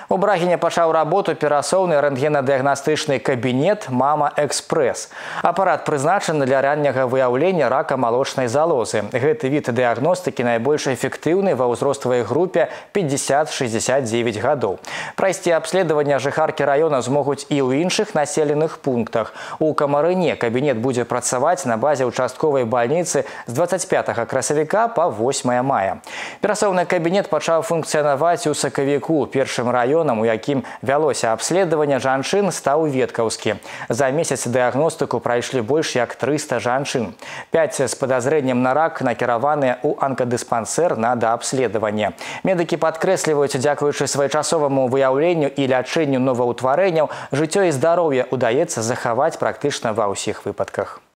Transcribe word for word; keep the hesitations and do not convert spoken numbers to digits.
У Брагіне пачаў работу перасоўны рэнтгенадыягнастычны кабінет «Мама Экспрэс». Апарат прызначаны для ранняга выяўлення рака малочнай залозы. Гэты від дыягностыкі найбольш эфектыўны ва ўзроставай групе пятьдесят шестьдесят девять гадоў. Прайсці абследаванне жыхаркі раёна змогуць і ў іншых населеных пунктах. У Камарыне кабінет будзе працаваць на базе участковай бальніцы з двадцать пятага красавіка па восьмае мая. Перасоўны кабінет пачаў функцыянаваць у сакавіку. Першым раёнам, у якім вялося абследаванне жанчын, стаў Веткаўскі. За месяц дыягностыку прайшлі больш як трыста жанчын. Пяць з падазрэннем на рак накіраваныя ў анкадыспансер на даабследаванне. Медыкі падкрэсліваюць, дзякуючы своечасоваму выяўленню і лячэнню новаўтварэнняў, жыццё і здароўе ўдаецца захаваць практычна ва ўсіх выпадках.